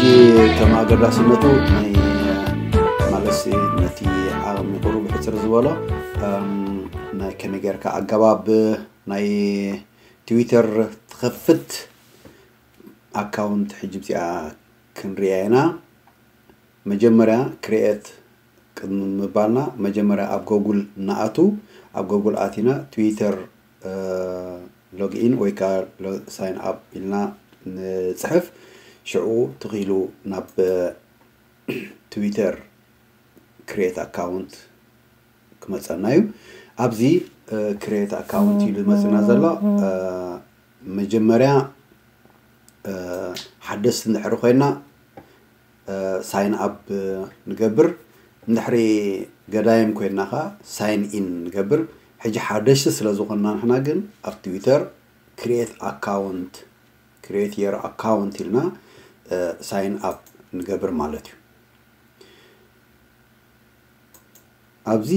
ከም ኣገዳስነቱ ናይ ማለትሲ ነቲ ዓቕሚ ቁሩብ ሕፅር ዝበሎ ናይ ከመይ ጌርካ ኣገባብ ናይ ትዊተር ትኸፍት ኣካውንት ሕጂ ብዚኣ ክንሪኣ ኢና። መጀመርያ ክሪኤት ቅድሚ ምባልና መጀመርያ ኣብ ጎጉል ንኣቱ። ኣብ ጎጉል ኣቲና ትዊተር ሎግኢን ወይ ከዓ ሳይን ኣፕ ኢልና ንፅሕፍ። ሽዑ ትኽኢሉ ናብ ትዊተር ክሪኤት ኣካውንት ክመፀና እዩ። ኣብዚ ክሪኤት ኣካውንት ኢሉ መፅና ዘሎ መጀመርያ ሓደስቲ እንድሕሪ ኮይና ሳይን ኣፕ ንገብር። እንድሕሪ ገዳይም ኮይና ከዓ ሳይን ኢን ንገብር። ሕጂ ሓደሽቲ ስለ ዝኾንና ንሕና ግን ኣብ ትዊተር ክሪኤት ኣካውንት ክሪኤት የር ኣካውንት ኢልና ሳይን ኣፕ ንገብር ማለት እዩ። ኣብዚ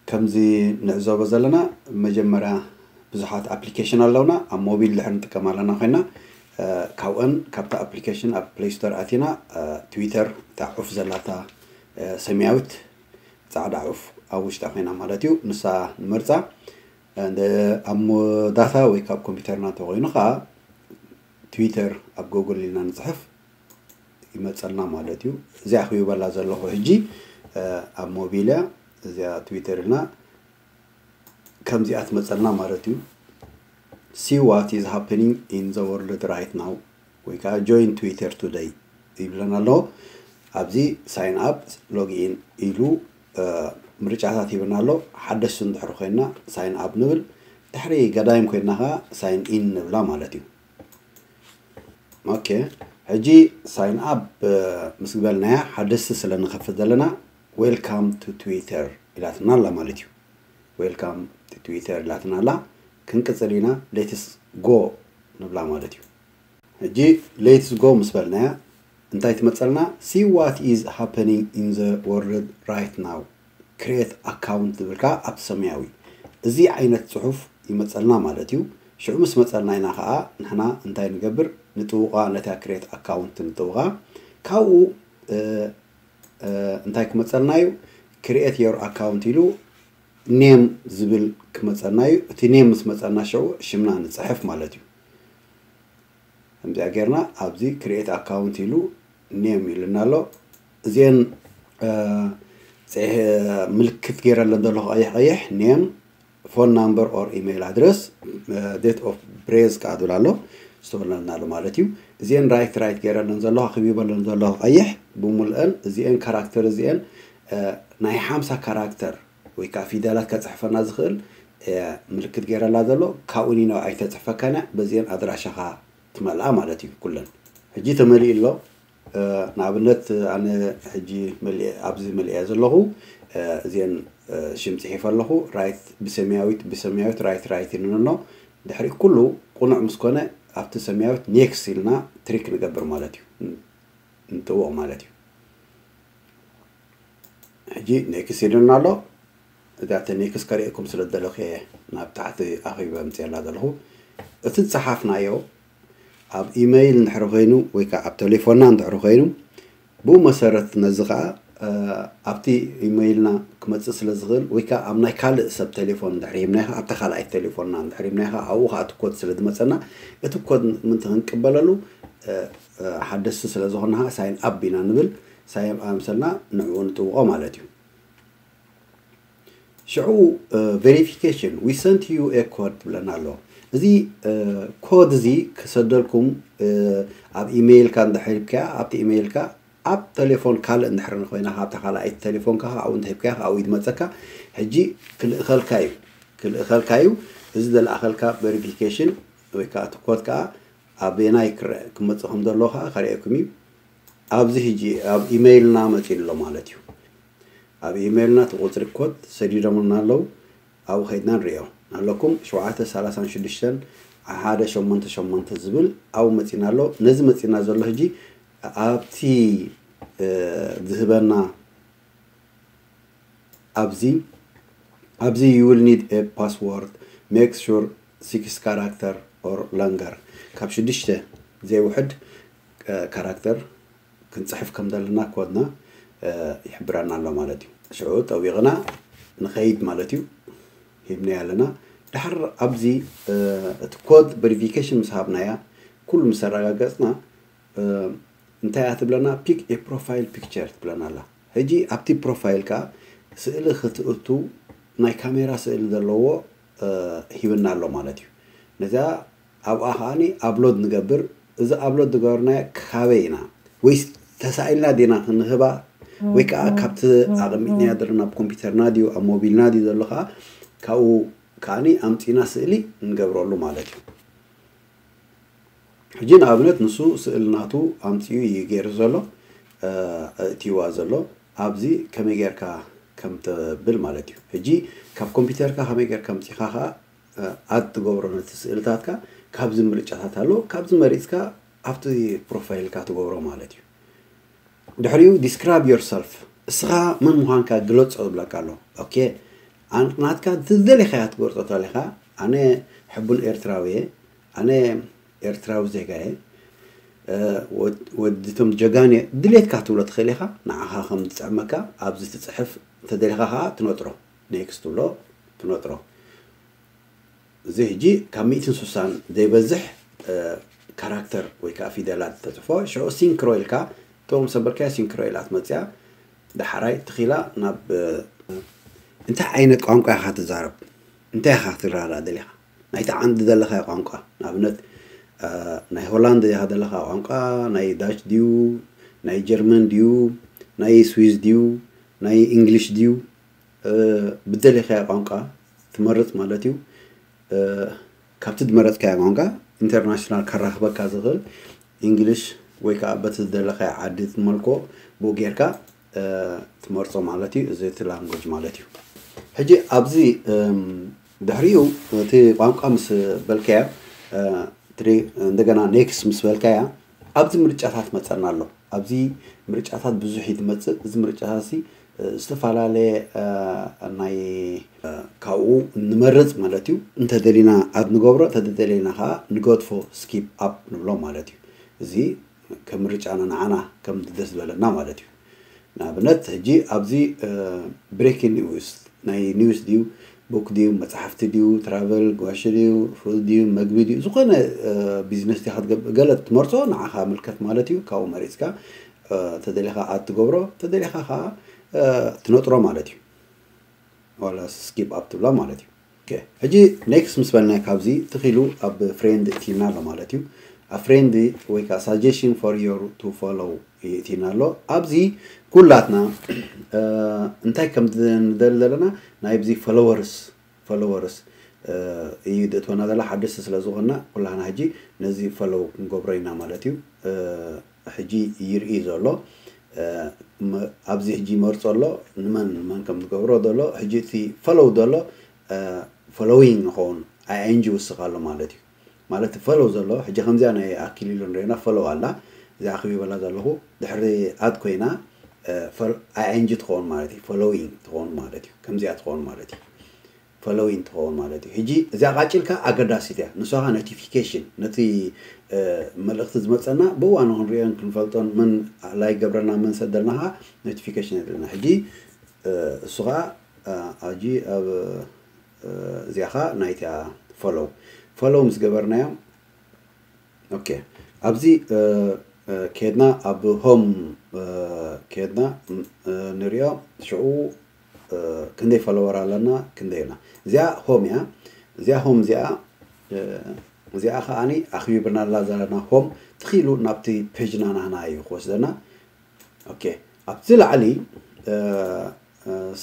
ከምዚ ንዕዘቦ ዘለና መጀመርያ ብዙሓት ኣፕሊኬሽን ኣለውና። ኣብ ሞቢል ድሕር ንጥቀም ኣለና ኮይና ካብአን ካብታ ኣፕሊኬሽን ኣብ ፕሌይ ስቶር ኣቲና ትዊተር እታ ዑፍ ዘላታ ሰማያዊት ፃዕዳ ዑፍ ኣብ ውሽጣ ኮይና ማለት እዩ። ንሳ ንመርፃ ኣብ ዳታ ወይ ካብ ኮምፒውተርና እንተኮይኑ ከዓ ትዊተር ኣብ ጎግል ኢልና ንፅሕፍ ይመፀልና ማለት እዩ። እዚኣ ክይበላ ዘለኹ ሕጂ ኣብ ሞቢል እያ። እዚኣ ትዊተር ኢልና ከምዚኣ ትመፀልና ማለት እዩ። See what is happening in the world right now ወይ ከዓ join Twitter today ይብለና ኣሎ። ኣብዚ ሳይን ኣፕ ሎግኢን ኢሉ ምርጫታት ሂብና ኣሎ። ሓደሽቲ እንድሕር ኮይና ሳይን ኣፕ ንብል። ድሕሪ ገዳይም ኮይና ከዓ ሳይን ኢን ንብላ ማለት እዩ። ኦኬ፣ ሕጂ ሳይን ኣፕ ምስ ግበልናያ ሓደስቲ ስለ ንኸፍት ዘለና welcome to Twitter ኢላትና ኣላ ማለት እዩ። Welcome to Twitter ኢላትና ኣላ። ክንቅፅል ኢና። Let's go ንብላ ማለት እዩ። ሕጂ let's go ምስ በልናያ እንታይ ትመፀልና? See what is happening in the world right now, create account ዝብል ከዓ ኣብቲ ሰማያዊ እዚ ዓይነት ፅሑፍ ይመፀልና ማለት እዩ። ሽዑ ምስ መፀልና ኢና ከዓ ንሕና እንታይ ንገብር? ንጥውቓ፣ ነታ ክሬት ኣካውንት ንጥውቓ። ካብኡ እንታይ ክመፀልና እዩ? Create your account ኢሉ ኔም ዝብል ክመፀና እዩ። እቲ ኔም ምስ መፀና ሽዑ ሽምና ንፅሕፍ ማለት እዩ። ከምዚኣ ጌርና ኣብዚ ክሪኤት ኣካውንት ኢሉ ኔም ኢሉና ኣሎ። እዚአን ምልክት ገይረለን ዘለኹ ቀይሕ ቀይሕ ኔም፣ ፎን ናምበር ኦር ኢሜይል ኣድረስ፣ ዴት ኦፍ ብሬዝ ከዓ ዝብል ኣሎ ዝተወለድናሉ ማለት እዩ። እዚአን ራይት ራይት ገይረለን ዘለኹ ክቢበለን ዘለኹ ቀይሕ ብምልአን እዚአን ካራክተር እዚአን ናይ ሓምሳ ካራክተር ወይ ከዓ ፊደላት ከፅሕፈና ዝኽእል ምልክት ገይረላ ዘሎ ካብኡ ኒነው ኣይተፅሕፈካን እያ። በዚአን ኣድራሻኻ ትመልኣ ማለት እዩ። ኩለን ሕጂ ተመሊኡ ኣሎ። ንኣብነት ኣነ ሕጂ ኣብዚ መሊአ ዘለኹ እዚአን ሽም ፅሒፈ ኣለኹ። ራይት ብሰማያዊት ብሰማያዊት ራይት ራይት ይንኖ። ድሕሪ ኩሉ ቁኑዕ ምስ ኮነ ኣብቲ ሰማያዊት ኔክስት ኢልና ትሪክ ንገብር ማለት እዩ። ንጥውቕ ማለት እዩ። ሕጂ ኔክስት ኢሉና ኣሎ። እዛ እቲ ኔክስት ከርእየኩም ስለ ዝደለኹ እየ ናብ ታሕቲ ኣኺበ ኣምፅኤላ ዘለኹ። እቲ ዝፀሓፍናዮ ኣብ ኢመይል እንድሕሪ ኮይኑ ወይ ከዓ ኣብ ቴሌፎንና እንድሕሪ ኮይኑ ብኡ መሰረት ነዚ ከዓ ኣብቲ ኢመይልና ክመፅእ ስለ ዝኽእል ወይ ከዓ ኣብ ናይ ካልእ ሰብ ቴሌፎን እንድሕሪ ሂብናዮ ከዓ ኣብታ ካልኣይቲ ቴሌፎንና እንድሕሪ ሂብናዮ ከዓ ኣብኡ ከዓ እቲ ኮድ ስለ ዝመፀና እቲ ኮድ ምእንቲ ክንቅበለሉ ሓደስቲ ስለ ዝኾንና ከዓ ሳይን ኣፕ ኢና ንብል። ሳይን ኣፕ ምሰልና ንዕኡ ንጥውቖ ማለት እዩ። ሽዑ ቬሪፊኬሽን we sent you a code ትብለና ኣሎ። እዚ ኮድ እዚ ክሰደልኩም ኣብ ኢሜይልካ እንድሕር ሂብካያ ኣብቲ ኢሜይልካ ኣብ ቴሌፎን ካልእ እንድሕር ኮይና ካብታ ካልኣይቲ ቴሌፎንካ ኣብኡ እንተሂብካያ ኣብኡ ይመፀካ። ሕጂ ክልእኸልካ እዩ ክልእኸልካ እዩ። እዚ ዘለኣኸልካ ቬሪፊኬሽን ወይ ከዓ እቲ ኮድ ከዓ ኣበየናይ ክረአ ክመፅእ ከም ዘለዎ ከዓ ከርእየኩም እዩ። ኣብዚ ሕጂ ኣብ ኢሜይልና መፂኡ ኣሎ ማለት እዩ። ኣብ ኢሜይልና እቲ ቁፅሪ ኮድ ሰዲዶምልና ኣለዉ። ኣብኡ ከይድና ንሪኦ ኣለኩም። ሸውዓተ ሰላሳን ሽዱሽተን ሓደ ሸሞንተ ሸሞንተ ዝብል ኣብኡ መፂና ኣሎ። ነዚ መፂና ዘሎ ሕጂ ኣብቲ ዝህበና ኣብዚ ኣብዚ you will need a password, make sure six character or longer ካብ ሽዱሽተ ዘይውሕድ ካራክተር ክንፅሕፍ ከም ዘለና ኮድና ይሕብረና ኣሎ ማለት እዩ። ሽዑ ጠዊቕና ንኸይድ ማለት እዩ። ሂብናዮ ኣለና። ድሓር ኣብዚ እቲ ኮድ ቨሪፊኬሽን ምስ ሃብናያ ኩሉ ምስ ኣረጋገፅና እንታይ እያ ትብለና? ፒክ ኤ ፕሮፋይል ፒክቸር ትብለና ኣላ። ሕጂ ኣብቲ ፕሮፋይልካ ስእሊ ክትእቱ ናይ ካሜራ ስእሊ ዘለዎ ሂብና ኣሎ ማለት እዩ። ነዚኣ ኣብኣ ከዓኒ ኣፕሎድ ንገብር። እዚ ኣፕሎድ ዝገበርናዮ ካበይ ኢና? ወይስ ተሳኢልና ዲና ክንህባ? ወይ ከዓ ካብቲ ኣቐሚጥናዮ ዘለና ኣብ ኮምፒውተርና ድዩ ኣብ ሞቢልና ድዩ ዘሎ ከዓ ካብኡ ከዓኒ ኣምፂና ስእሊ ንገብረሉ ማለት እዩ። ሕጂ ንኣብነት ንሱ ስእሊ ናቱ ኣምፂኡ እዩ ገይሩ ዘሎ፣ ኣእትይዋ ዘሎ። ኣብዚ ከመይ ጌርካ ከም ተብል ማለት እዩ። ሕጂ ካብ ኮምፒውተርካ ከመይ ጌርካ ኣምፂኻ ከዓ ኣድ ትገብሮ ነቲ ስእልታትካ። ካብዚ ምርጫታት ኣሎ። ካብዚ መሪፅካ ኣብቲ ፕሮፋይልካ ትገብሮ ማለት እዩ። ድሕሪኡ ዲስክራይብ ዮርሰልፍ፣ እስኻ መን ምዃንካ ግለጾ ዝብለካ ኣሎ። ኦኬ፣ ኣን- ናትካ ዝደለኻያ ትገልጾ ተለኻ፣ ኣነ ሕቡን ኤርትራዊ እየ፣ ኣነ ኤርትራዊ ዜጋ እየ፣ እ፣ ወድ- ወዲ ቶም ጀጋን እየ፣ ድሌትካ ትብሎ ትኽእል ኢኻ። ንዓኻ ከም ዝጥዕመካ ኣብዚ ትጽሕፍ፣ እንተደሊኻ ኸዓ ትነጥሮ፣ ኔክስት ትብሎ፣ ትነጥሮ። እዚ ሕጂ ካብ ሚእትን ስሳን ዘይበዝሕ ካራክተር ወይ ከዓ ፊደላት ተፅፎ። ሽዑ ሲንክሮ ኢልካ እቶም ሰበልካዮ ሲንክሮ ኢላ ትመፅያ። ዳሓራይ ትኺላ ናብ እንታይ ዓይነት ቋንቋ ኢኻ ትዛረብ? እንታይ ኢኻ ክትረዳእ ደሊኻ? ናይቲ ዓንዲ ዘለኻዮ ቋንቋ፣ ንኣብነት ናይ ሆላንድ ኢኻ ዘለኻ ቋንቋ፣ ናይ ዳች ድዩ፣ ናይ ጀርመን ድዩ፣ ናይ ስዊዝ ድዩ፣ ናይ እንግሊሽ ድዩ? ብደሊኻዮ ቋንቋ ትመርፅ ማለት እዩ። ካብቲ ዝመረፅካዮ ቋንቋ ኢንተርናሽናል ከራኽበካ ዝኽእል እንግሊሽ ወይ ከዓ በቲ ዝደለኻዮ ዓዲ ትመልኮ ብኡ ጌርካ ትመርፆ ማለት እዩ። እዚ እቲ ላንጎጅ ማለት እዩ። ሕጂ ኣብዚ ድሕሪኡ እቲ ቋንቋ ምስ በልካዮ ትሪ እንደገና ኔክስት ምስ በልካያ ኣብዚ ምርጫታት መፀና ኣሎ። ኣብዚ ምርጫታት ብዙሕ እዩ ዝመፅእ። እዚ ምርጫታት እዚ ዝተፈላለየ ናይ ካብኡ ንመርፅ ማለት እዩ። እንተደሊና ኣድ ንገብሮ፣ እንተደሊና ከዓ ንገድፎ፣ ስኪፕ ኣፕ ንብሎ ማለት እዩ። እዚ ከም ምርጫና ንዓና ከም ደስ ዝበለና ማለት እዩ። ንኣብነት ሕጂ ኣብዚ ብሬኪንግ ኒውስ ናይ ኒውስ ድዩ፣ ቡክ ድዩ፣ መፅሓፍቲ ድዩ፣ ትራቨል፣ ጋሽ ድዩ፣ ፉድ ድዩ፣ መግቢ ድዩ፣ ዝኾነ ቢዝነስ ዲኻ ትገብር፣ ገለ ትመርፆ ንዓኻ ምልከት ማለት እዩ። ካብኡ መሪፅካ ተደሊኻ ኣድ ትገብሮ፣ ተደሊኻ ከዓ ትነጥሮ ማለት እዩ። ዋላ ስኪፕ ኣፕ ትብላ ማለት እዩ። ሕጂ ኔክስት ምስ በልና ካብዚ ትኺሉ ኣብ ፍሬንድ እቲና ኣሎ ማለት እዩ። ኣብ ፍሬንድ ወይ ከዓ ሳጀሽን ፎር ዮር ቱ ፎሎው ይእቲና ኣሎ። ኣብዚ ኩላትና እንታይ ከም ንደሊ ዘለና ናይ ብዚ ፎሎወርስ ፎሎወርስ እዩ ድእትወና ዘላ ሓደስቲ ስለ ዝኾንና ኩላህና ሕጂ ነዚ ፎሎው ክንገብሮ ኢና ማለት እዩ። ሕጂ ይርኢ ዘሎ ኣብዚ ሕጂ ይመርፆ ኣሎ ንመን ንመን ከም ዝገብሮ ዘሎ። ሕጂ እቲ ፎሎው ዘሎ ፎሎዊንግ ንኸውን ኣይኤንጂ ይውስኽ ኣሎ ማለት እዩ። ማለት ፎሎው ዘሎ ሕጂ ከምዚኣ ናይ ኣኪሊሉ ንሪእና ፎሎው ኣላ። እዚኣ ክቢበላ ዘለኹ ድሕሪ ኣድ ኮይና ኣይኤንጂ ትኸውን ማለት እዩ። ፎሎዊንግ ትኸውን ማለት እዩ። ከምዚኣ ትኸውን ማለት እዩ። ፎሎዊንግ ትኸውን ማለት እዩ። ሕጂ እዚኣ ቃጭልካ ኣገዳሲት እያ። ንሷ ኸዓ ኖቲፊኬሽን ነቲ መልእኽቲ ዝመፀና ብእዋኑ ክንሪኦን ክንፈልጦን መን ላይ ገብረና መን ሰደልና ኸዓ ኖቲፊኬሽን የድልና። ሕጂ እሱ ኸዓ ኣጂ ኣብ እዚኣ ኸዓ ናይቲኣ ፎሎው ፎሎው ምስ ገበርናዮ ኦኬ ኣብዚ ኬድና ኣብ ሆም ኬድና ንሪኦ ሽዑ ክንደይ ፎሎወር ኣለና ክንደይ ኢልና። እዚኣ ሆም እያ። እዚኣ ሆም እዚኣ እዚኣ ከዓኒ ኣኽቢብናላ ዘለና ሆም ትኺሉ ናብቲ ፔጅና ናህና እዩ ክወስደና። ኦኬ ኣብቲ ላዕሊ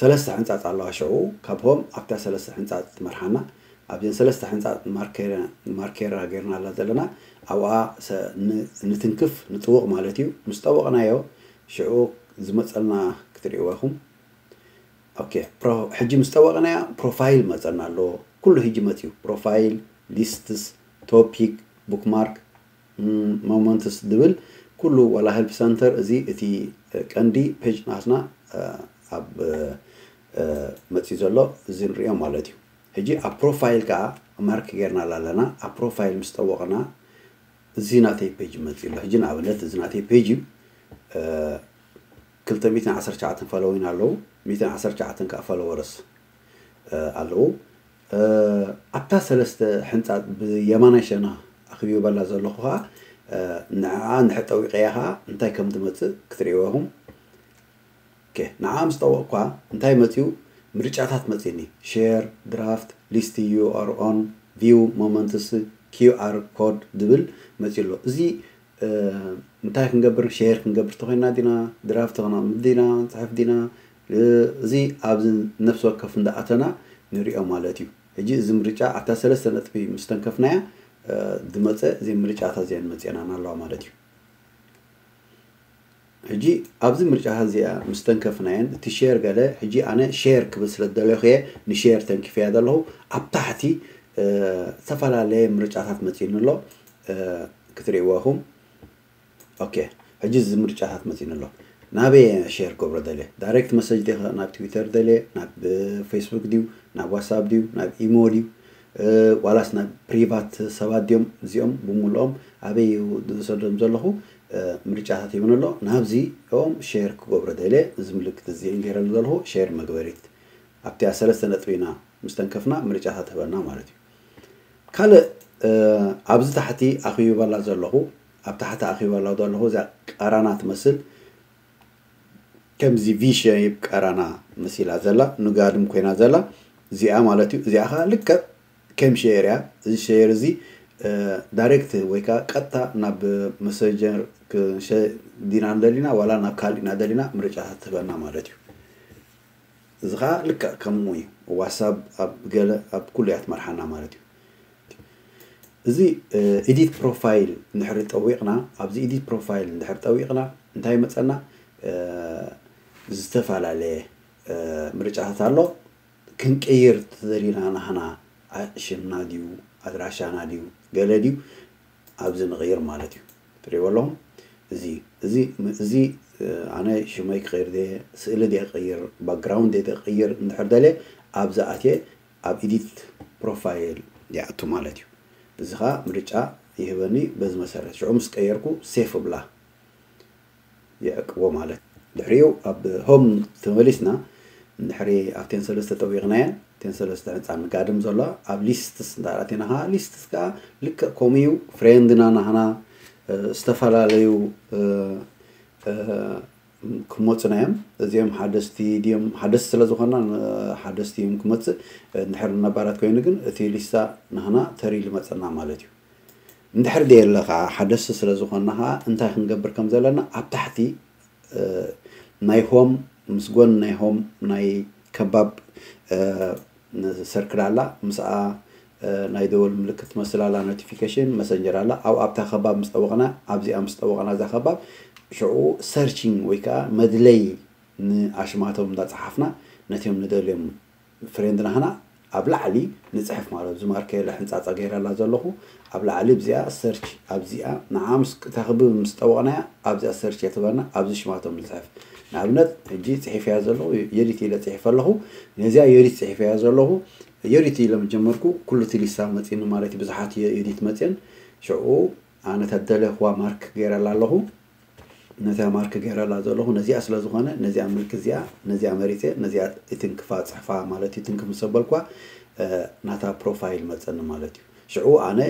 ሰለስተ ሕንፃፅ ኣለዋ። ሽዑ ካብ ሆም ኣብታ ሰለስተ ሕንፃፅ ትመርሓና። ኣብዘን ሰለስተ ሕንፃፅ ማርኬራ ጌርናላ ዘለና ኣብኣ ንትንክፍ ንጥውቕ ማለት እዩ። ምስ ጠወቕናዮ ሽዑ ዝመፀልና ክትሪእዎ ኢኹም። ኦኬ ሕጂ ምስ ጠወቕናያ ፕሮፋይል መፀና ኣሎ። ኩሉ ሕጂ መፅዩ ፕሮፋይል፣ ሊስትስ፣ ቶፒክ፣ ቡክማርክ፣ ሞመንትስ ዝብል ኩሉ ዋላ ሄልፕ ሰንተር እዚ እቲ ቀንዲ ፔጅ ናትና ኣብ መፅዩ ዘሎ እዚ ንሪኦ ማለት እዩ። ሕጂ ኣብ ፕሮፋይል ከዓ ማርክ ጌርናላ ኣለና። ኣብ ፕሮፋይል ምስ ጠወቕና እዚ ናተይ ፔጅ መፅእ ኣሎ። ሕጂ ንኣብነት እዚ ናተይ ፔጅ እዩ። ክልተ ሚእትን ዓሰርተ ትሽዓተን ፎሎዊን ኣለዉ፣ ሚእትን ዓሰርተ ትሽዓተን ከዓ ፎሎወርስ ኣለዉ። ኣብታ ሰለስተ ሕንፃ ብየማናይ ሸና ኣኽቢበላ ዘለኹ ከዓ ንዓ ንሕጠዊቀያ ከዓ እንታይ ከም ትመፅእ ክትርእይዎ ኢኹም። ንዓ ምስ ጠወቕኳ እንታይ መፅኡ? ምርጫታት መፅእኒ። ሼር፣ ድራፍት፣ ሊስት፣ ዩ ኣር ኦን፣ ቪው፣ ሞመንትስ፣ ኪው ኣር ኮድ ዝብል መፅኡ ኣሎ። እዚ እንታይ ክንገብር? ሼር ክንገብር ተኮይና ዲና፣ ድራፍት ክነቕምጥ ዲና፣ ንፅሕፍ ዲና፣ እዚ ኣብዚ ነፍሲ ወከፍ እንዳኣተና ንሪኦ ማለት እዩ። ሕጂ እዚ ምርጫ ኣብታ ሰለስተ ነጥቢ ምስ ተንከፍናያ ዝመፀ እዚ ምርጫታት እዚአን መፅአናና ኣለዋ ማለት እዩ። ሕጂ ኣብዚ ምርጫታት እዚኣ ምስ ተንከፍናየን እቲ ሼር ገለ ሕጂ ኣነ ሼር ክብል ስለ ዝደለኹ እየ ንሼር ተንኪፈያ ዘለኹ። ኣብ ታሕቲ ዝተፈላለየ ምርጫታት መፂኡኒ ኣሎ ክትርእይዎ ኢኹም። ኦኬ ሕጂ እዚ ምርጫታት መፂኡኒ ኣሎ። ናበይ ሼር ክገብሮ ደልየ? ዳይሬክት መሰጅ ዲኻ ናብ ትዊተር ደልየ ናብ ፌስቡክ ድዩ ናብ ዋትሳፕ ድዩ ናብ ኢሞ ድዩ ዋላስ ናብ ፕሪቫት ሰባት ድዮም እዚኦም ብምልኦም ኣበይ ዝሰዶም ዘለኹ ምርጫታት ይብን ኣሎ። ናብዚ ኦም ሼር ክገብሮ ደልየ እዚ ምልክት እዚ ገይረሉ ዘለኹ ሼር መግበሪት ኣብቲያ ሰለስተ ነጥቢና ምስ ተንከፍና ምርጫታት ትህበና ማለት እዩ። ካልእ ኣብዚ ታሕቲ ኣኽቢበላ ዘለኹ ኣብ ታሕቲ ኣኽቢበላ ዘለኹ እዛ ቀራና ትመስል ከምዚ ቪ ሸይፕ ቀራና መሲላ ዘላ ንጋድም ኮይና ዘላ እዚኣ ማለት እዩ። እዚኣ ከዓ ልክዕ ከም ሼር እያ። እዚ ሼር እዚ ዳይሬክት ወይ ከዓ ቀጥታ ናብ መሰንጀር ዲና እንደሊና ዋላ ናብ ካልእ ኢና ደሊና ምርጫታት ትህበና ማለት እዩ። እዚ ከዓ ልክዕ ከምኡ እዩ። ዋትሳፕ ኣብ ገለ ኣብ ኩሉ እያ ትመርሓና ማለት እዩ። እዚ ኤዲት ፕሮፋይል እንድሕር ጠዊቕና ኣብዚ ኤዲት ፕሮፋይል እንድሕር ጠዊቕና እንታይ መፀና? ዝተፈላለየ ምርጫታት ኣሎ። ክንቅይር ተደሊና ናህና ሽምና ድዩ ኣድራሻና ድዩ ገለ ድዩ ኣብዚ ንቕይር ማለት እዩ። ትሪእዎ ኣለኹም እዚ እዚ እዚ ኣነ ሽመይ ክቕይር ደ ስእሊ ደ ቅይር ባክግራውንድ ደ ቅይር እንድሕር ደለ ኣብዚ ኣትየ ኣብ ኤዲት ፕሮፋይል ይኣቱ ማለት እዩ። እዚ ከዓ ምርጫ ይህበኒ በዚ መሰረት ሽዑ ምስ ቀየርኩ ሴፍ ብላ ይዕቅቦ ማለት ድሕሪኡ ኣብ ሆም ተመሊስና እንድሕሪ ኣብተን ሰለስተ ጠዊቕናየን እተን ሰለስተ ሕንፃ ንጋድም ዘሎ ኣብ ሊስትስ እንዳኣቲና ከዓ ሊስትስ ከዓ ልክዕ ከምኡ እዩ። ፍሬንድና ናህና ዝተፈላለዩ ክመፁና እዮም። እዚኦም ሓደስቲ ድዮም ሓደስቲ ስለ ዝኾና ሓደስቲ እዮም ክመፅእ። እንድሕር ነባራት ኮይኑ ግን እቲ ሊስታ ናህና ተሪሉ መፀና ማለት እዩ። እንድሕር ደየለ ከዓ ሓደስቲ ስለ ዝኾንና ከዓ እንታይ ክንገብር ከም ዘለና ኣብ ታሕቲ ናይ ሆም ምስ ጎን ናይ ሆም ናይ ከባብ ሰርክል ኣላ ምስኣ ናይ ደወል ምልክት ትመስል ኣላ ኖቲፊኬሽን መሰንጀር ኣላ ኣብ ኣብታ ከባብ ምስ ጠወቕና ኣብዚኣ ምስ ጠወቕና እዛ ከባብ ሽዑ ሰርችንግ ወይ ከዓ መድለይ ንኣሽማቶም እንዳፀሓፍና ነቲኦም ንደልዮም ፍሬንድ ናህና ኣብ ላዕሊ ንፅሕፍ ማለት ኣብዚ ማርከ የለ ሕንፃፃ ገይረላ ዘለኹ ኣብ ላዕሊ ብዚኣ ሰርች ኣብዚኣ ንዓ ምስ ተኽብብ ምስ ጠወቕናያ ኣብዚኣ ሰርች የትበና ኣብዚ ሽማቶም ንፅሕፍ ንኣብነት ሕጂ ፅሒፍያ ዘለኹ የዲት ኢለ ፅሒፈ ኣለኹ ነዚኣ የዲት ፅሒፍያ ዘለኹ የዲት ኢለ ምጀመርኩ ኩሉ እቲ ሊስታ መፂኒ ማለት እዩ ብዙሓት የዲት መፅን ሽዑ ኣነ ተደለኽዋ ማርክ ገይረላ ኣለኹ ነዚኣ ማርክ ገይረላ ዘለኹ ነዚኣ ስለ ዝኾነ ነዚኣ ምልክ እዚኣ ነዚኣ መሪፀ ነዚኣ ይትንክፋ ፅሕፋ ማለት እዩ ትንክፍ ምስ ኣበልኳ ናታ ፕሮፋይል መፀኒ ማለት እዩ ሽዑ ኣነ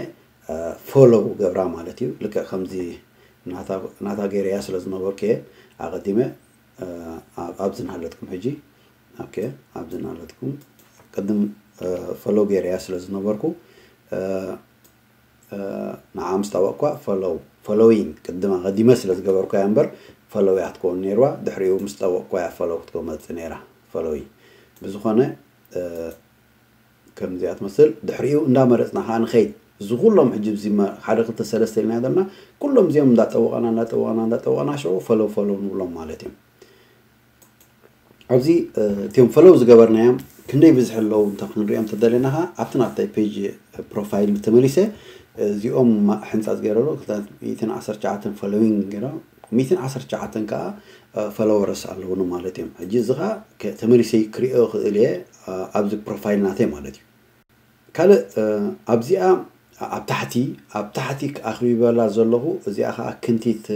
ፎሎው ገብራ ማለት እዩ ልክዕ ከምዚ ናታ ገይረያ ስለ ዝነበርኩ እየ ኣቐዲመ ኣብዚ ናሃለትኩም ሕጂ ኦኬ ኣብዚ ናሃለትኩም ቅድም ፎሎው ገይረያ ስለ ዝነበርኩ ንዓ ምስ ጠወቕኳ ፎሎው ፎሎዊንግ ቅድም ኣቐዲመ ስለ ዝገበርኳ እያ እምበር ፎሎው እያ ክትከውን ነይርዋ ድሕሪኡ ምስ ጠወቕኳ እያ ፎሎው ክትመፅእ ነይራ ፎሎዊንግ ብዝኾነ ከምዚኣ ትመስል ድሕሪኡ እንዳመረፅና ከዓ ንኸይድ እዚ ኩሎም ሕጂ እዚ ሓደ ክልተ ሰለስተ ኢልና ዘለና ኩሎም እዚኦም እንዳጠወቐና እንዳጠወቐና እንዳጠወቐና ሽዑ ፈለው ፈለው ንብሎም ማለት እዮም ኣብዚ እቲኦም ፈለው ዝገበርናዮም ክንደይ ብዝሒ ኣለዉ እንተ ክንሪኦም ተደለና ከዓ ኣብቲ ናተይ ፔጅ ፕሮፋይል ተመሊሰ እዚኦም ሕንፃ ዝገይረሉ ክልተ ሚእትን ዓሰርተ ትሽዓተን ፈሎዊንግ ገይሮም ሚእትን ዓሰርተ ትሽዓተን ከዓ ፈሎወርስ ኣለውኒ ማለት እዮም ሕጂ እዚ ከዓ ተመሊሰ ክሪኦ ክእል እየ ኣብዚ ፕሮፋይል ናተይ ማለት እዩ ካልእ ኣብዚኣ ኣብ ታሕቲ ኣብ ታሕቲ ኣኽቢበላ ዘለኹ እዚኣ ከዓ ክንቲት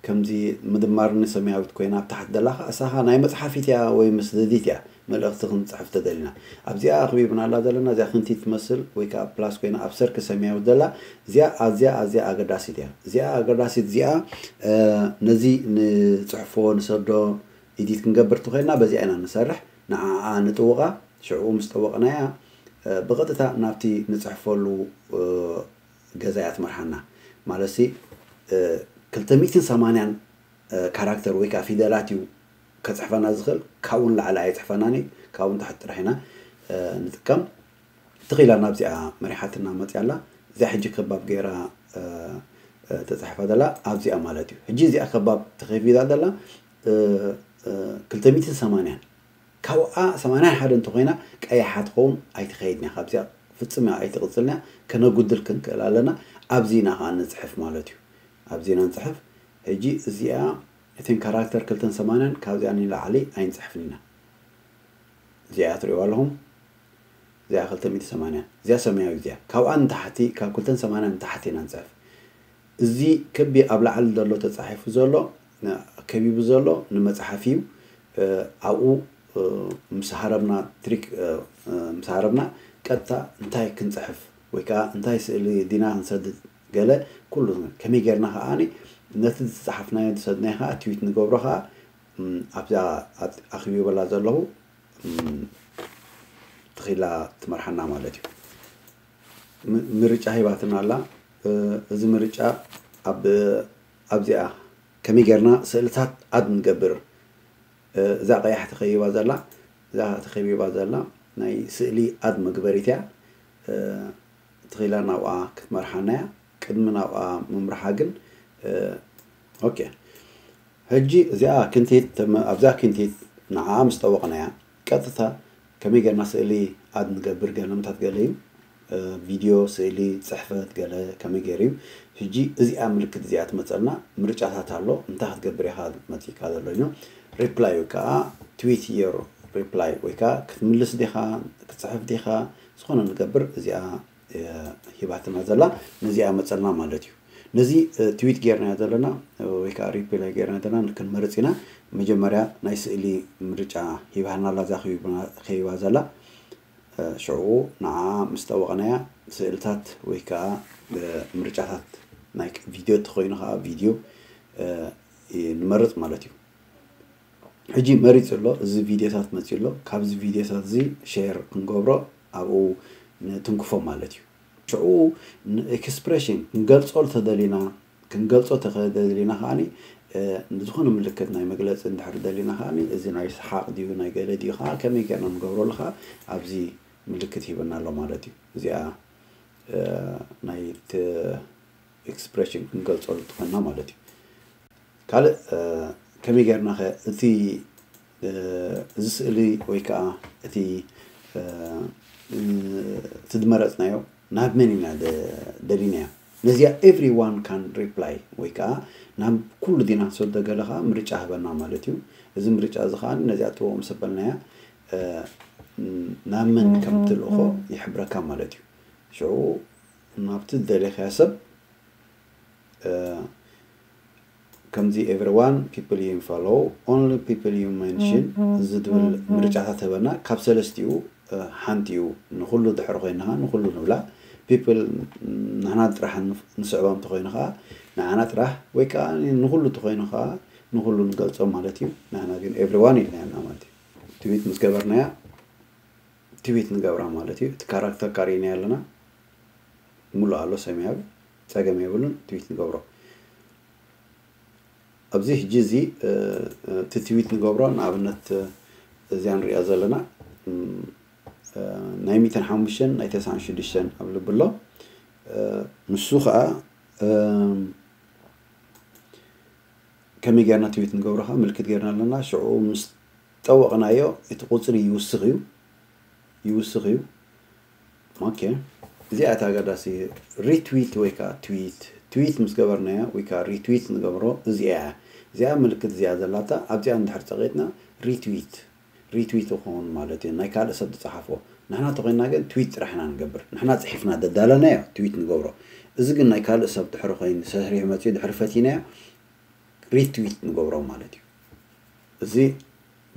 ከምዚ ምድማርኒ ሰማያዊት ኮይና ኣብ ታሕቲ ዘላ ከዓ እሳ ከዓ ናይ መፅሓፊት እያ ወይ መስደዲት እያ መልእኽቲ ክንፅሕፍ ተደሊና ኣብዚኣ ኣኽቢብናላ ዘለና እዚኣ ክንቲት ትመስል ወይ ከዓ ፕላስ ኮይና ኣብ ሰርክ ሰማያዊት ዘላ እዚኣ ኣዝያ ኣዝያ ኣገዳሲት እያ እዚኣ ኣገዳሲት እዚኣ ነዚ ንፅሕፎ ንሰዶ ኢዲት ክንገብር ተኾይና በዚኣ ኢና ንሰርሕ ንዓኣ ንጥውቓ ሽዑ ምስ ጠወቕናያ ብቐጥታ ናብቲ ንፅሕፈሉ ገዛ እያ ትመርሓና ማለት ሲ ክልተ ሚእትን ሰማንያን ካራክተር ወይ ከዓ ፊደላት እዩ ከፅሕፈና ዝኽእል ካብኡ ንላዕሊ ኣይፅሕፈናን እዩ ካብኡ ንታሕቲ ጥራሕ ኢና ንጥቀም ትኽኢላ ናብዚኣ መሪሓትና መፅያ ኣላ እዚኣ ሕጂ ከባብ ገይራ ተፅሕፋ ዘላ ኣብዚኣ ማለት እዩ ሕጂ እዚኣ ከባብ ተኸፊታ ዘላ ክልተ ሚእትን ሰማንያን ካብኣ ሰማንያን ሓደ እንተኾይና ቀያሓ ትኸውን ኣይትኸይድን እያ ካብዚኣ ፍፅም እያ ኣይትቕፅልን እያ ከነጉድል ክንክእል ኣለና ኣብዚ ኢና ከዓ ንፅሕፍ ማለት እዩ ኣብዚ ኢና ንፅሕፍ ሕጂ እዚኣ እተን ካራክተር ክልተን ሰማንያን ካብዚኣ ንላዕሊ ኣይንፅሕፍን ኢና እዚኣ ትሪእዋ ኣለኹም እዚኣ ክልተ ሚእቲ ሰማንያ እዚኣ ሰማያዊ እዚኣ ካብኣ ንታሕቲ ካብ ክልተን ሰማንያን ንታሕቲ ኢና ንፅሕፍ እዚ ክቢ ኣብ ላዕሊ ዘሎ ተፃሒፉ ዘሎ ከቢቡ ዘሎ ንመፅሓፍ እዩ ኣብኡ ምስ ሃረብና ትሪክ ምስ ሃረብና ቀጥታ እንታይ ክንፅሕፍ ወይ ከዓ እንታይ ስእሊ ዲና ክንሰድድ ገለ ኩሉ ከመይ ጌርና ከዓ ነቲ ዝፀሓፍናዮ ዝሰድናዮ ከዓ ትዊት ንገብሮ ከዓ ኣብዛ ኣኽቢበላ ዘለኹ ትኺላ ትመርሓና ማለት እዩ ምርጫ ሂባትና ኣላ እዚ ምርጫ ኣብዚኣ ከመይ ጌርና ስእልታት ኣድ ንገብር እዛ ቀያሕ ተኸቢባ ዘላ እዛ ተኸቢባ ዘላ ናይ ስእሊ ኣድ መግበሪት እያ ትኺላ ናብኣ ክትመርሓና እያ ቅድሚ ናብኣ ምምርሓ ግን ኦኬ ሕጂ እዚኣ ክንቲት ኣብዛ ክንቲት ንዓኣ ምስ ጠወቕናያ ቀጥታ ከመይ ጌርና ስእሊ ኣድ ንገብር ገለምታት ገለ እዩ ቪድዮ ስእሊ ፅሕፈት ገለ ከመይ ገይሩ እዩ ሕጂ እዚኣ ምልክት እዚኣ ትመፀልና ምርጫታት ኣሎ እንታይ ክትገብር ኢኻ መፂካ ዘሎ እዩ reply ወይ ከዓ tweet your reply ወይ ከዓ ክትምልስ ዲኻ ክትፅሕፍ ዲኻ ዝኾነ ንገብር እዚኣ ሂባትና ዘላ ነዚኣ መፀልና ማለት እዩ ነዚ ትዊት ጌርናዮ ዘለና ወይ ከዓ reply ጌርና ዘለና ክንመርፅ ኢና መጀመርያ ናይ ስእሊ ምርጫ ሂባህና ኣላ እዛ ከይባ ዘላ ሽዑ ንዓ ምስ ጠወቕናያ ስእልታት ወይ ከዓ ምርጫታት ናይ ቪድዮ ተኮይኑ ከዓ ቪድዮ ንመርፅ ማለት እዩ ሕጂ መሪፅ ኣሎ እዚ ቪድዮታት መፂ ኣሎ ካብዚ ቪድዮታት እዚ ሼር ክንገብሮ ኣብኡ ንትንክፎ ማለት እዩ ሽዑ ንኤክስፕሬሽን ክንገልፆ ተደሊና ክንገልፆ ተደሊና ከዓ ዝኾነ ምልክት ናይ መግለፂ እንድሕር ደሊና ከዓ እዚ ናይ ሰሓቅ ድዩ ናይ ገለ ድዩ ከዓ ከመይ ጌርና ንገብረሉ ከዓ ኣብዚ ምልክት ሂበና ኣሎ ማለት እዩ እዚኣ ናይ ኤክስፕሬሽን ክንገልፀሉ ትኾንና ማለት እዩ ካልእ ከመይ ጌርና ኸ እቲ እዚ ስእሊ ወይ ከዓ እቲ እቲ ዝመረፅናዮ ናብ መን ኢና ደሊናዮ ነዚኣ everyone can reply ወይ ከዓ ናብ ኩሉ ዲና ንሰዶ ገለ ከዓ ምርጫ ህበና ማለት እዩ እዚ ምርጫ እዚ ከዓ ነዚኣ ጥበቦም ሰበልናያ ናብ መን ከም ትልእኾ ይሕብረካ ማለት እዩ ሽዑ ናብቲ ዝደለኻዮ ሰብ ከምዚ everyone people you follow only people you mention ዝብል ምርጫታት ህበና ካብ ሰለስቲኡ ሓንቲ እዩ ንኩሉ ድሕሪ ኮይንኻ ንኩሉ ንብላ people ንሕና ጥራሕ ንስዕቦም ተኮይኑ ከዓ ንዓና ጥራሕ ወይ ከዓ ንኩሉ ተኮይኑ ከዓ ንኩሉ ንገልፆም ማለት እዩ ንሕና ግን everyone ኢልና ኢና ማለት እዩ ትዊት ምስ ገበርናያ ትዊት ንገብራ ማለት እዩ እቲ ካራክተር ካሪእና ኣለና ሙሉ ኣሎ ሰማያዊ ፀገም የብሉን ትዊት ንገብሮ ኣብዚ ሕጂ እዚ እቲ ትዊት ንገብሮ ንኣብነት እዚኣ ንሪኣ ዘለና ናይ ሚእትን ሓሙሽተን ናይ ተስዓን ሽዱሽተን ኣብ ልቢ ኣሎ ንሱ ከዓ ከመይ ጌርና ትዊት ንገብሮ ከዓ ምልክት ጌርና ኣለና ሽዑ ምስ ጠወቕናዮ እቲ ቁፅሪ ይውስኽ እዩ ይውስኽ እዩ ኦኬ እዚኣ እታ ኣገዳሲ retweet ወይ ከዓ tweet tweet ምስ ገበርናዮ ወይ ከዓ retweet ንገብሮ እዚኣ እያ እዚኣ ምልክት እዚኣ ዘላታ ኣብዚኣ እንድሕር ፀቂጥና retweet retweet ይኸውን ማለት እዩ ናይ ካልእ ሰብ ዝፀሓፎ ንሕና ተኾይንና ግን ትዊት ጥራሕ ኢና ንገብር። ንሕና ጽሒፍና ደዳለናዮ ትዊት ንገብሮ። እዚ ግን ናይ ካልእ ሰብ ድሕሪ ኮይኑ ሰሪሑ መጺኡ ድሕሪ ፈቲናዮ ሪትዊት ንገብሮ ማለት እዩ። እዚ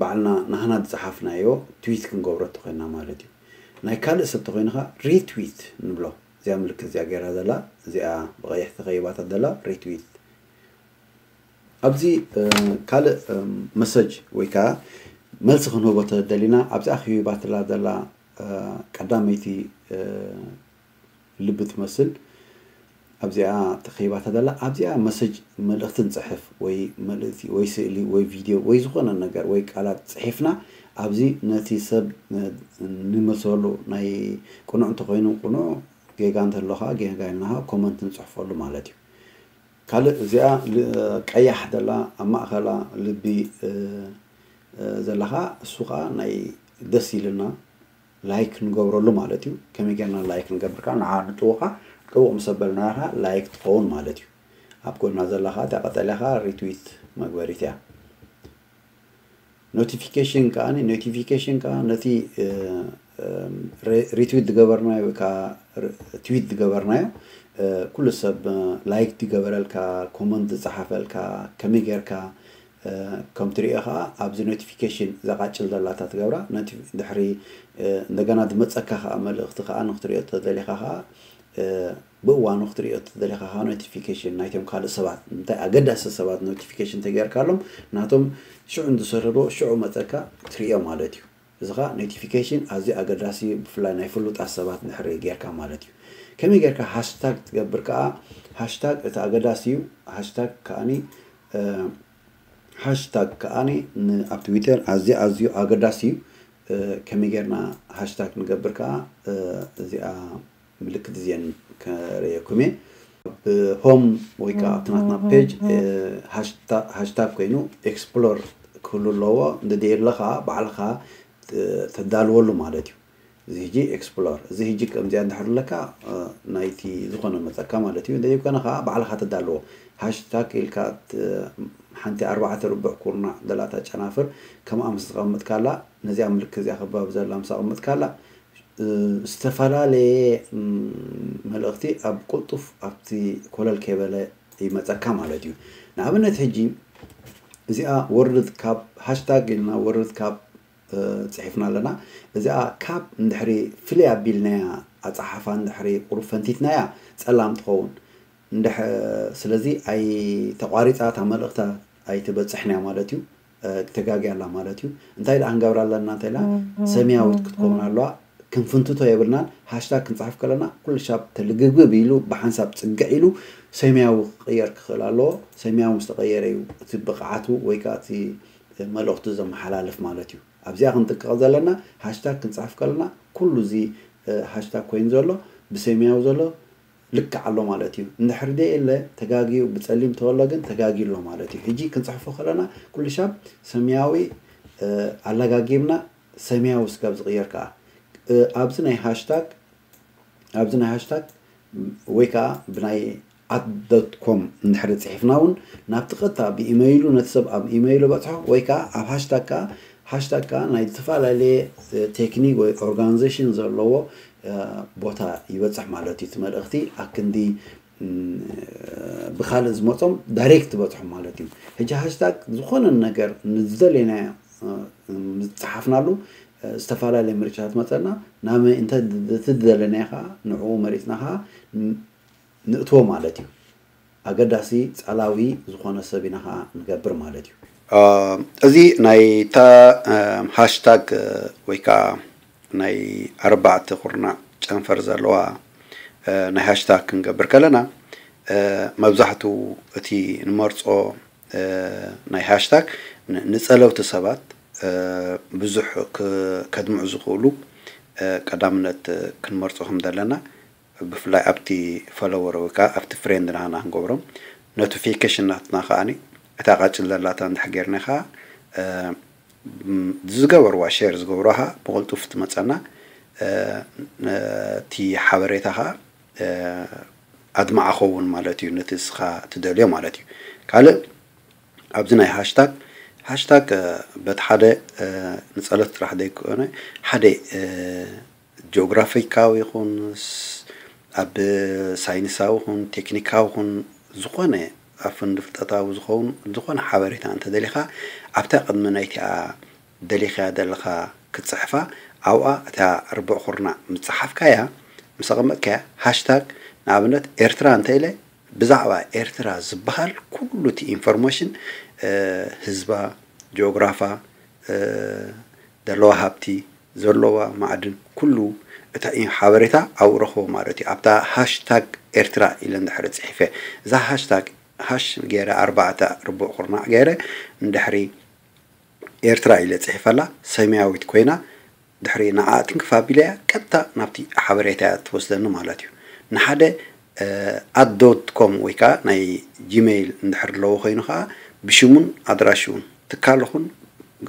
ባዕልና ናህና ዝጸሓፍናዮ ትዊት ክንገብሮ ተኾይንና ማለት እዩ። ናይ ካልእ ሰብ ተኾይኑ ኸኣ ሪትዊት ንብሎ። እዚኣ ምልክት እዚኣ ገይራ ዘላ፣ እዚኣ ብቐይሕ ተኸይባታ ዘላ ሪትዊት። ኣብዚ ካልእ መሰጅ ወይ ከዓ መልሲ ክንህቦ ተደሊና ኣብዚኣ ክህባትላ ዘላ ቀዳመይቲ ልቢ ትመስል ኣብዚኣ ተኸይባታ ዘላ ኣብዚኣ መሰጅ መልእኽቲ ንፅሕፍ ወይ መልእኽቲ ወይ ስእሊ ወይ ቪድዮ ወይ ዝኾነ ነገር ወይ ቃላት ፅሒፍና ኣብዚ ነቲ ሰብ ንመሰሉ ናይ ቅኑዕ እንተኾይኑ ቅኑዕ ጌጋ እንተሎ ከዓ ጌጋ ኢልና ኮመንት ንፅሕፈሉ ማለት እዩ። ካልእ እዚኣ ቀያሕ ዘላ ኣብ ማእኸላ ልቢ ዘላ ከዓ እሱ ከዓ ናይ ደስ ኢልና ላይክ ንገብረሉ ማለት እዩ። ከመይ ጌርና ላይክ ንገብር ከዓ ንዓ ንጥውቓ ጥውቕ ምስ ኣበልናያ ከዓ ላይክ ትኸውን ማለት እዩ። ኣብ ጎና ዘላ ከዓ እታ ቀጠልያ ከዓ ሪትዊት መግበሪት እያ። ኖቲፊኬሽን ከዓ ኖቲፊኬሽን ከዓ ነቲ ሪትዊት ዝገበርናዮ ወይ ከዓ ትዊት ዝገበርናዮ ኩሉ ሰብ ላይክ ዝገበረልካ ኮመንት ዝፀሓፈልካ ከመይ ጌርካ ከም ትሪኦ ከዓ ኣብዚ ኖቲፊኬሽን ዘቃጭል ዘላታ ትገብራ ድሕሪ እንደገና ዝመፀካ ከዓ መልእኽቲ ከዓ ንክትሪኦ ተደሊካ ከዓ ብእዋኑ ክትሪኦ ተደሊካ ከዓ ኖቲፊኬሽን ናይቶም ካልእ ሰባት እንታይ ኣገዳሲ ሰባት ኖቲፊኬሽን ተገይርካሎም ናቶም ሽዑ ዝሰርሕዎ ሽዑ መፀካ ትሪኦ ማለት እዩ። እዚ ከዓ ኖቲፊኬሽን ኣዝዩ ኣገዳሲ እዩ ብፍላይ ናይ ፍሉጣት ሰባት ድሕሪ ጌርካ ማለት እዩ። ከመይ ጌርካ ሃሽታግ ትገብር ከዓ ሃሽታግ እቲ ኣገዳሲ እዩ። ሃሽታግ ከዓኒ ሃሽታግ ከዓኒ ኣብ ትዊተር ኣዝዩ ኣዝዩ ኣገዳሲ እዩ። ከመይ ጌርና ሃሽታግ ንገብር ከዓ እዚኣ ምልክት እዚአን ከርእየኩም እየ። ኣብ ሆም ወይ ከዓ ኣብቲ ናትና ፔጅ ሃሽታግ ኮይኑ ኤክስፕሎር ክህሉ ኣለዎ። እንተደየለ ከዓ ባዕልካ ተዳልወሉ ማለት እዩ። እዚ ሕጂ ኤክስፕሎር እዚ ሕጂ ከምዚኣ እንድሕር ኣለካ ናይቲ ዝኾነ መፀካ ማለት እዩ። እንተዘይኮነ ከዓ ባዕልካ ተዳልዎ ሃሽታግ ኢልካ ሓንቲ ኣርባዕተ ርቡዕ ኩርናዕ ደላታ ጨናፍር ከምኣ ምስ ተቐምጥካላ ነዚኣ ምልክት እዚኣ ክባብ ዘላ ምስ ኣቐመጥካላ ዝተፈላለየ መልእኽቲ ኣብ ቅልጡፍ ኣብቲ ኮለል ከይበለ ይመፀካ ማለት እዩ። ንኣብነት ሕጂ እዚኣ ወርድ ካብ ሃሽታግ ኢልና ወርድ ካብ ፅሒፍና ኣለና። እዚኣ ካብ እንድሕሪ ፍልይ ኣቢልናያ ኣፀሓፋ እንድሕሪ ቁሩብ ፈንቲትናያ ፀላም ትኸውን። እንድሕ ስለዚ ኣይተቋሪፃ እታ መልእኽታ ኣይትበፅሕንያ ማለት እዩ። ተጋጊያ ኣላ ማለት እዩ። እንታይ ደኣ ክንገብራ ኣለና እንተ ኢልና ሰማያዊት ክትከውን ኣለዋ። ክንፍንትቶ የብልናን። ሃሽታግ ክንፅሕፍ ከለና ኩሉ ሻብ ተልግብግብ ኢሉ ብሓንሳብ ፅግዕ ኢሉ ሰማያዊ ክቕየር ክኽእል ኣለዎ። ሰማያዊ ምስ ተቐየረ እዩ እቲ ብቕዓቱ ወይ ከዓ እቲ መልእኽቱ ዘመሓላልፍ ማለት እዩ። ኣብዚኣ ክንጥንቀቕ ዘለና ሃሽታግ ክንፅሕፍ ከለና ኩሉ እዚ ሃሽታግ ኮይኑ ዘሎ ብሰማያዊ ዘሎ ልክዕ ኣሎ ማለት እዩ። እንድሕር ደየለ ተጋግዩ ብፀሊም ተወሎ ግን ተጋግዩ ኣሎ ማለት እዩ። ሕጂ ክንፅሕፎ ከለና ኩሉ ሻብ ሰማያዊ ኣለጋጊብና ሰማያዊ ስጋብ ዝቕየር ከዓ ኣብዚ ናይ ሃሽታግ ኣብዚ ናይ ሃሽታግ ወይ ከዓ ብናይ ኣት ዶት ኮም እንድሕሪ ፅሒፍና እውን ናብቲ ቀጥታ ብኢመይሉ ነቲ ሰብ ኣብ ኢመይሉ በፅሖ ወይ ከዓ ኣብ ሃሽታግ ከዓ ሃሽታግ ከዓ ናይ ዝተፈላለየ ቴክኒክ ወይ ኦርጋናይዜሽን ዘለዎ ቦታ ይበፅሕ ማለት እዩ። እቲ መልእኽቲ ኣክንዲ ብካልእ ዝመፆም ዳይሬክት ዝበፅሖም ማለት እዩ። ሕጂ ሃሽታግ ዝኾነ ነገር ንዝደለናዮ ዝፀሓፍናሉ ዝተፈላለየ ምርጫታት መፀና ናብ እንተ እቲ ዝደለናዮ ከዓ ንዕኡ መሪፅና ከዓ ንእትዎ ማለት እዩ። ኣገዳሲ ፃላዊ ዝኾነ ሰብ ኢና ከዓ ንገብር ማለት እዩ። እዚ ናይ እታ ሃሽታግ ወይ ከዓ ናይ ኣርባዕተ ኩርናዕ ጨንፈር ዘለዋ ናይ ሃሽታግ ክንገብር ከለና መብዛሕትኡ እቲ ንመርፆ ናይ ሃሽታግ ንፀለውቲ ሰባት ብዙሕ ከድምዑ ዝኽእሉ ቀዳምነት ክንመርፆ ከም ዘለና ብፍላይ ኣብቲ ፈለወር ወይ ከዓ ኣብቲ ፍሬንድ ናና ክንገብሮም ኖቲፊኬሽን ናትና ከዓ እታ ቃጭል ዘላታ እንድሕር ጌርና ከዓ ዝገበርዋ ሼር ዝገብሮ ከዓ ብቕልጡፍ ትመፀና እቲ ሓበሬታ ከዓ ኣድማዓ ኸውን ማለት እዩ። ነቲ እስኻ ትደልዮ ማለት እዩ። ካልእ ኣብዚ ናይ ሃሽታግ ሃሽታግ በቲ ሓደ ንፀሎት ጥራሕ ዘይኮነ ሓደ ጂኦግራፊካዊ ይኹን ኣብ ሳይንሳዊ ይኹን ቴክኒካዊ ይኹን ዝኾነ ኣብ ፍንዲ ፍልጠታዊ ዝኸውን ዝኾነ ሓበሬታ እንተደሊኻ ኣብታ ቅድሚ ናይቲኣ ደሊኻያ ዘለኻ ክትፅሕፋ ኣብኣ እታ ርቡዕ ኩርናዕ ምፅሓፍካያ ምስ ኣቐመጥካያ ሃሽታግ ንኣብነት ኤርትራ እንተ ኢለ ብዛዕባ ኤርትራ ዝበሃል ኩሉ እቲ ኢንፎርሜሽን ህዝባ፣ ጂኦግራፋ፣ ዘለዋ ሃብቲ፣ ዘለዋ ማዕድን ኩሉ እቲ ሓበሬታ ኣብኡ ረኽቦ ማለት እዩ። ኣብታ ሃሽታግ ኤርትራ ኢለ እንድሕሪ ፅሒፈ እዛ ሃሽታግ ሃሽ ገይረ ኣርባዕተ ርቡዕ ኩርናዕ ገይረ እንድሕሪ ኤርትራ ኢለ ፅሒፈላ ሰማያዊት ኮይና ድሕሪ ንዓ ትንክፍ ኣቢለያ ቀጥታ ናብቲ ሓበሬታ እያ ትወስደኒ ማለት እዩ። ንሓደ ኣት ዶት ኮም ወይ ከዓ ናይ ጂሜይል እንድሕር ኣለዎ ኮይኑ ከዓ ብሽሙን ኣድራሽውን ትካል ኹን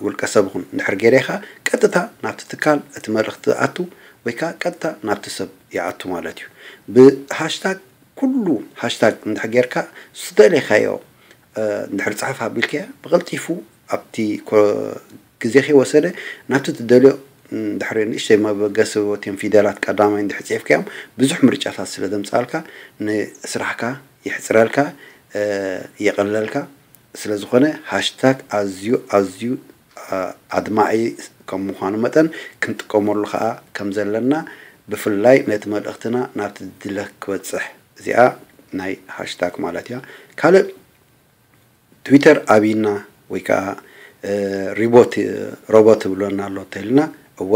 ውልቀ ሰብ ኹን እንድሕር ገይረ ከዓ ቀጥታ ናብቲ ትካል እቲ መልእኽቲ ኣቱ ወይ ከዓ ቀጥታ ናብቲ ሰብ ይኣቱ ማለት እዩ። ብሃሽታግ ኩሉ ሃሽታግ እንድሕር ጌርካ ዝተደለኻዮ እንድሕር ፅሕፍ ኣቢልካያ ብቐልጢፉ ኣብቲ ግዜ ከይወሰደ ናብቲ ትደልዮ ድሕሪ ንእሽተይ መበገሲ ወትዮም ፊደላት ቀዳማይ እንድሕር ፅሒፍካዮም ብዙሕ ምርጫታት ስለ ዘምፃልካ ንስራሕካ ይሕፅረልካ የቐለልካ። ስለዝኾነ ሃሽታግ ኣዝዩ ኣዝዩ ኣድማዒ ከም ምዃኑ መጠን ክንጥቀመሉ ከዓ ከም ዘለና ብፍላይ ነቲ መልእኽትና ናብቲ ድለ ክበፅሕ እዚኣ ናይ ሃሽታግ ማለት እያ። ካልእ ትዊተር ኣብይና ወይ ከዓ ሪቦት ሮቦት ትብለና ኣሎ ተልና እወ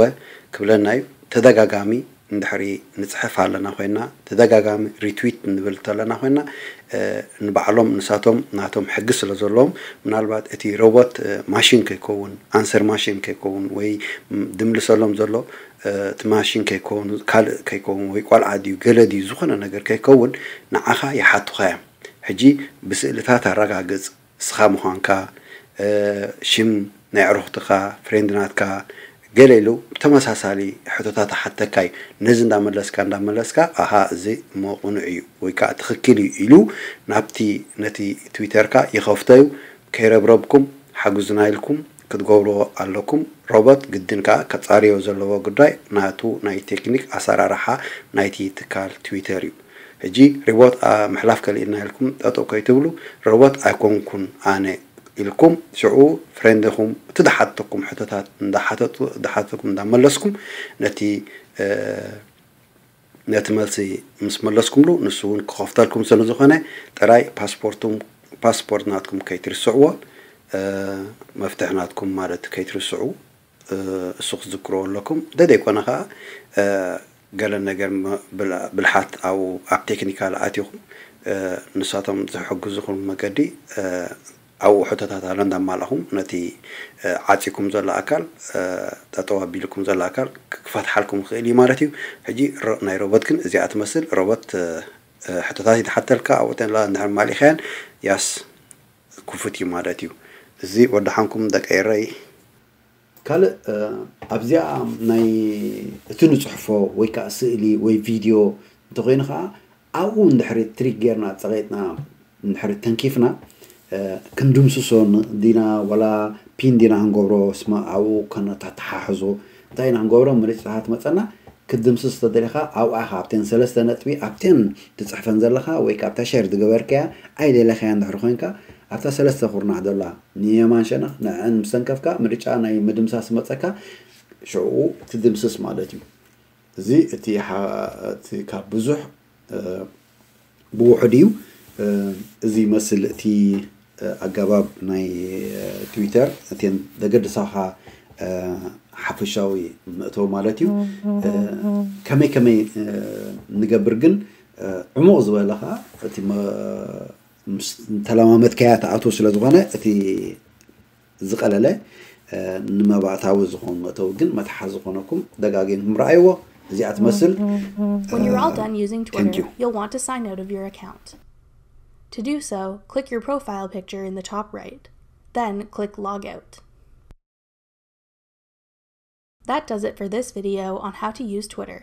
ክብለና እዩ። ተደጋጋሚ እንድሕሪ ንፅሕፍ ኣለና ኮይና ተደጋጋሚ ሪትዊት ንብል ተለና ኮይና ንባዕሎም ንሳቶም ናቶም ሕጊ ስለ ዘለዎም ምናልባት እቲ ሮቦት ማሽን ከይከውን ኣንሰር ማሽን ከይከውን ወይ ድምልሰሎም ዘሎ እቲ ማሽን ከይከውን ካልእ ከይከውን ወይ ቆልዓ ድዩ ገለ ድዩ ዝኾነ ነገር ከይከውን ንዓኻ ይሓቱኻ እዮም። ሕጂ ብስእልታት ኣረጋግፅ እስኻ ምዃንካ ሽም ናይ ዕሩኽትኻ ፍሬንድ ናትካ ገለ ኢሉ ብተመሳሳሊ ሕቶታት ሓተካ እዩ። ነዚ እንዳመለስካ እንዳመለስካ ኣሃ እዚ እሞ ቅኑዕ እዩ ወይ ከዓ ትኽክል እዩ ኢሉ ናብቲ ነቲ ትዊተርካ ይኸፍቶ እዩ። ከይረብረብኩም ሓግዙና ኢልኩም ክትገብርዎ ኣለኩም። ሮቦት ግድን ከዓ ከፃርዮ ዘለዎ ጉዳይ ናቱ ናይ ቴክኒክ ኣሰራርሓ ናይቲ ትካል ትዊተር እዩ። ሕጂ ሪቦት ምሕላፍ ከሊእና ኢልኩም ጠጠው ከይትብሉ ሮቦት ኣይኮንኩን ኣነ ኢልኩም ሽዑ ፍሬንድኹም እቲ ዝሓተኩም ሕቶታት እንዳሓተቱ ዝሓተኩም እንዳመለስኩም ነቲ ነቲ መልሲ ምስ መለስኩምሉ ንሱ እውን ክኸፍተልኩም ስለ ዝኾነ ጥራይ ፓስፖርቱም ፓስፖርት ናትኩም ከይትርስዕዎ መፍትሕ ናትኩም ማለት ከይትርስዑ እሱ ክትዝክርዎ ኣለኩም። ደደይኮነ ከዓ ገለ ነገር ብልሓት ኣብኡ ኣብ ቴክኒካል ኣቲኹም ንሳቶም ዝሕግዙኹም መገዲ ኣብኡ ሕቶታት ኣሎ እንዳማላኹም ነቲ ዓፂኩም ዘሎ ኣካል ጠጠው ኣቢልኩም ዘሎ ኣካል ክፈትሓልኩም ይኽእል እዩ ማለት እዩ። ሕጂ ናይ ሮቦት ግን እዚኣ ትመስል ሮቦት ሕቶታት ይትሓተልካ ኣብኡ ተላ እንድሕር ማሊኻያን ያስ ክፉት እዩ ማለት እዩ። እዚ ወዳሓንኩም ደቂ ኤረይ። ካልእ ኣብዚኣ ናይ እቲ ንፅሕፎ ወይ ከዓ ስእሊ ወይ ቪድዮ እንተኮይኑ ከዓ ኣብኡ እንድሕሪ ትሪክ ጌርና ፀቂጥና እንድሕሪ ተንኪፍና ክንድምስሶ ዲና ዋላ ፒን ዲና ክንገብሮ ስማ ኣብኡ ከነተተሓሕዞ እንታይ ኢና ክንገብሮ ምርጫታት መፀና ክትድምስስ ተደሊኻ ኣብኣ ኢኻ ኣብተን ሰለስተ ነጥቢ ኣብተን ትፅሕፈን ዘለኻ ወይ ካብታ ሸር ዝገበርካያ ኣይደለኻያ እንድሕሪ ኮይንካ ኣብታ ሰለስተ ኩርናዕ ዘላ ንየማን ሸነኽ ንዕን ምስ ተንከፍካ ምርጫ ናይ ምድምሳስ መፀካ ሽዑ ትድምስስ ማለት እዩ። እዚ እቲ ካብ ብዙሕ ብውሑድ እዩ። እዚ ይመስል እቲ ኣገባብ ናይ ትዊተር እተን ዘገድሳኻ ሓፈሻዊ መእተዊ ማለት እዩ። ከመይ ከመይ ንገብር ግን ዕሙቕ ዝበለ ኸዓ እቲ ተለማመድካያ ትኣትዎ ስለ ዝኾነ እቲ ዝቐለለ ንመባእታዊ ዝኾኑ መእተዊ ግን መትሓዚ ዝኾነኩም ደጋጊምኩም ረኣይዎ። እዚኣ ትመስል። When you're all done using Twitter, you'll want to sign out of your account. To do so, click your profile picture in the top right. Then click Logout. That does it for this video on how to use Twitter.